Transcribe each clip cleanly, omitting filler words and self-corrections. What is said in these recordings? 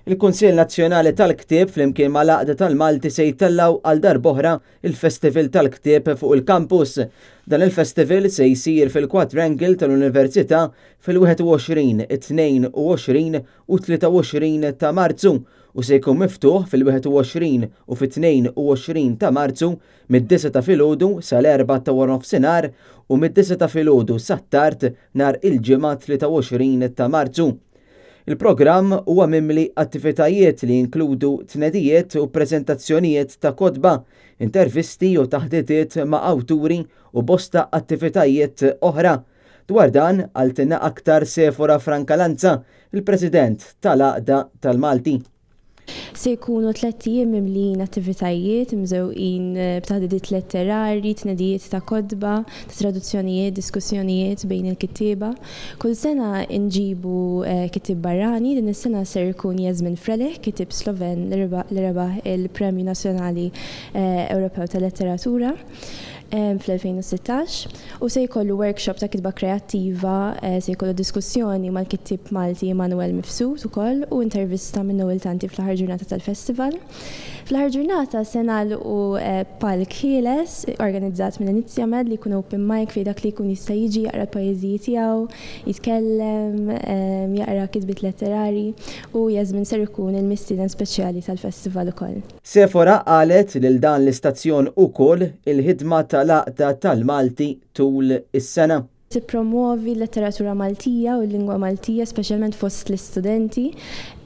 Il-Kunsill Nazzjonali tal-Ktieb flimkien mal-Għaqda tal-Malti se jtellgħu għal darb'oħra il-Festival tal-Ktieb fuq il-kampus. Dan il-festival se jsir fil-Quadrangle tal-Università fil-21, 22 u 23 ta' Marzu u se jkun miftuħ fil-21 u fit-22 ta' Marzu mid-9 ta' filgħodu sal-4 ta' waranofsinhar u mid-9 ta' filgħodu sat-tard nhar il-Ġimgħa 23 ta' Marzu. Il-programm huwa mimli attivitajiet li jinkludu tnedijiet u preżentazzjonijiet ta' kotba, intervisti u taħditiet ma' awturi u bosta attivitajiet oħra. Dwar dan qaltilna aktar Sefora Francalanza, il-President tal-Għaqda tal-Malti. Se jkunu tlett ijiem mimlijin attivitajiet, imżewqin b'taħdidiet letterarji, tnedijiet ta' kotba, ta' traduzzjonijiet, diskussjonijiet bejn il-kittieba. Kull sena nġibu kittieb barrani, din is-sena ser ikun Jasmin Frelih, kittieb Sloven li rebaħ il-Premju Nazzjonali Ewropew tal-Letteratura. fl-2016 u se jkollu workshop ta' kitba kreattiva, se jkollu diskussjoni mal-kittieb Malti Immanuel Mifsud ukoll u intervista minn Noel Tanti fl-aħħar ġurnata tal-festival. Fl-aħħar ġurnata se nagħlqu palk ħieles organizzat minn Inizjamed li jkun open mic fejn dak li jkun jista' jiġi jaqra l-poeżiji tiegħu, jitkellem, jaqra kitbiet letterari u Yasmin ser ikun il-mistieden speċjali tal-festival ukoll. Sefora qalet lil dan l-istazzjon ukoll il-ħidma tal-Għaqda tal-Malti tul is-sena. Tippromwovi l-letteratura Maltija u l-lingwa Maltija speċjalment fost l-istudenti.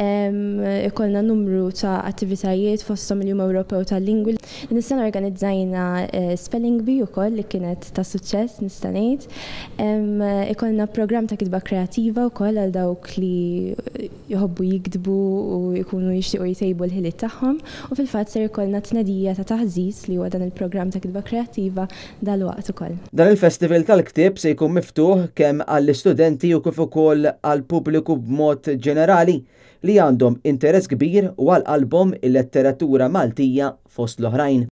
Ikollna numru ta' attivitajiet fosthom il-Jum Ewropew tal-Lingwi. Din is-sena organizzajna spelling bee ukoll li kienet ta' suċċess nista' ngħid. Ikollna programm ta' kitba kreattiva wkoll għal dawk li jħobbu jiktbu u jkunu jixtiequ jtejbu l-ħiliet tagħhom u fil-fatt ser ikollna tnedija ta' Taħżiż li huwa dan il-programm ta' kitba kreattiva dalwaqt ukoll. Dan il-festival tal-ktieb se jkun miftuħ kemm għall-istudenti u kif ukoll għall-pubbliku b'mod ġenerali li għandhom interess kbir u għal qalbhom il-letteratura Maltija fost l-oħrajn.